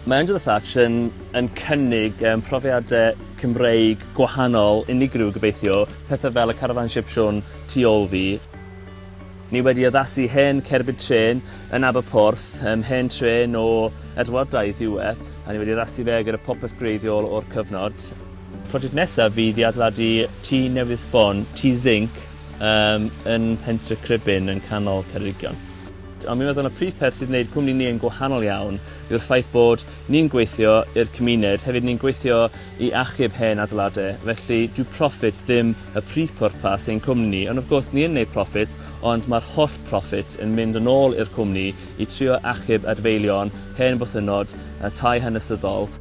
Mae Under the Thatch yn yn cynnig yym profiade Cymreig gwahanol, unigryw gobeithio, pethe fel y carafan Sipsiwn tu ôl fi. Ni wedi addasu hen cerbyd trên yn Aberporth, yym hen trên o Edwardaidd yw e, a ni wedi addasu fe gyda popeth gwreiddiol o'r cyfnod. Prosiect nesaf fydd i adeiladu tŷ newydd sbon, tŷ zinc, yym yn Pentre Cribyn yn canol Ceredigion. Ond mi'n meddwl y prif peth sydd wneud cwmni ni yn gwahanol iawn yw'r ffaith bod ni'n gweithio i'r cymuned, hefyd ni'n gweithio i achub hen adeilade, felly dyw profit ddim y prif pwrpas ein cwmni ni. Ond of course ni yn neud profit, ond ma'r holl profit yn mynd yn ôl i'r cwmni i trio achub adfeilion, hen bwthynnod, y tai hanesyddol.